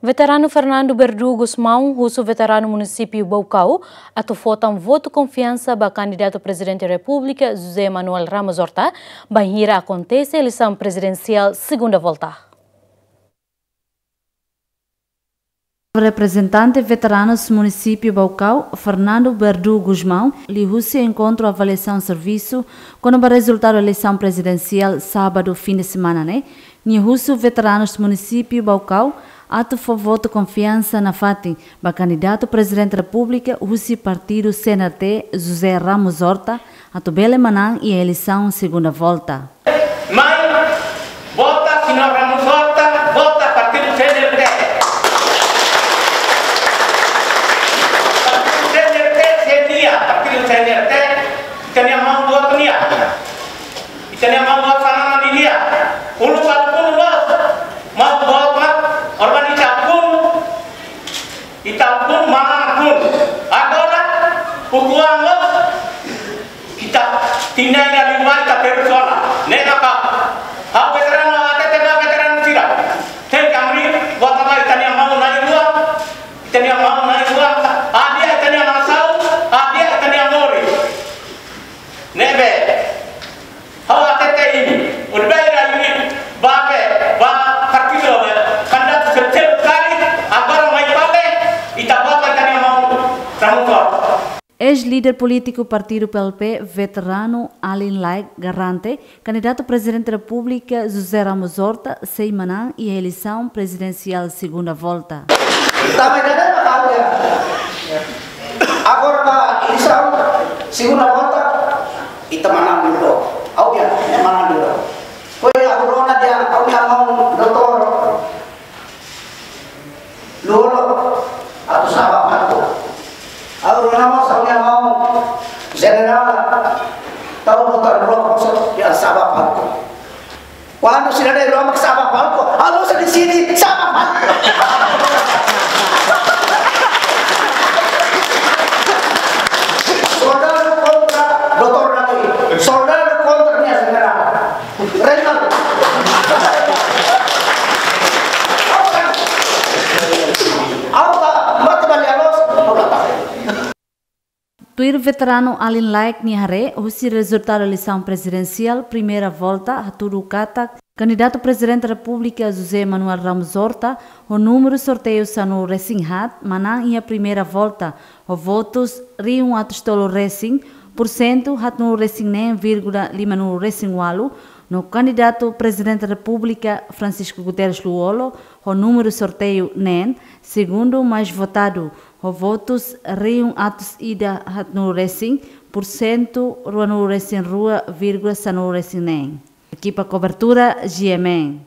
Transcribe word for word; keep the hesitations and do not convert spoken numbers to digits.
Veteranu Fernando Berdu Gusmão husu veteranu munisípiu Baucau atu vota votu konfiansa ba kandidatu Prezidente Repúblika José Manuel Ramos Horta, bainhira akontese eleisaun prezidensiál segunda volta. Reprezentante veteranus munisípiu Baucau, Fernando Berdu Gusmão, liuhusi enkontru avaliasaun servisu kona-ba rezultadu eleisaun prezidensiál sábadu fin de semana ne'e, nia husu veteranus munisípiu Baucau atu fó votu konfiansa nafatin ba kandidatu Prezidente Repúblika husi partidu C N R T, José Ramos Horta, atu bele manán iha eleisaun segunda volta. Mai, vota señór Ramos Horta, vota partidu C N R T. Partidu C N R T, C N R T, partidu C N R T, ita-nia maun-boot nian. Ita-nia maun-boot fananan nian. Uluk alkun loos, maun-boot mak organiza alkun, ita alkun, maun alkun. Agora, ukuan loos, ita tinan ida liubá ita persona. Ne'e maka, ha'u veteranu, ha'u hatete ba veteranu sira. Tenke abrir, buat ba ita-nia maun na'in-rua, ita-nia maun na'in-rua, hadi'a ita-nia nasaun, hadi'a ita-nia moris. Ne'ebé, ha'u hatete imi, urbaira imi, ba be, ba partidu be, kandidatu seluk-seluk karik, agora mai fali, ita vota ita-nia maun, Ramos Horta. Eis-líder polítiku partidu P L P, veteranu Alin Laek garante, kandidatu Prezidente Repúblika José Ramos Horta sei manán iha eleisaun prezidensiál segunda volta. Tanba ida-ne'e mak ha'u dehan. Agora ba eleisaun segunda volta, ita manán duni. Ha'u dehan, ita manán duni. Foin ha'u rona dehan, ha'u-nia maun doutór Lú-Olo atu sa'e ba palku. Ha'u rona mós ha'u-nia maun jenerál, tau doutór Lú-Olo mós atu sa'e ba palku. Kuandu sira na'in-rua mak sa'e ba palku, ha'u mós deside sa'e ba palku. Soldadu kontra doutór Lú-Olo, soldadu kontra nia jenerál. Reinaldo. Ha'u ba mate ba lia loos, ha'u ba mate. Tuir veteranu Alin Laek nia haree, husi rezultadu eleisaun prezidensiál primeira volta, hatudu katak kandidatu Prezidente Repúblika José Manuel Ramos Horta, ho númeru sorteiu sanulu-resin-haat, manán iha primeira volta, ho votus rihun atus tolu-resin, pursentu haatnulu-resin-neen vírgula limanulu-resin-ualu, no kandidatu Prezidente Repúblika Francisco Guterres Lú-Olo, ho númeru sorteiu neen, segundu mais votadu, ho votus rihun atus ida haatnulu-resin, pursentu ruanulu-resin-rua vírgula sanulu-resin-neen. Ekipa kobertura, G M N.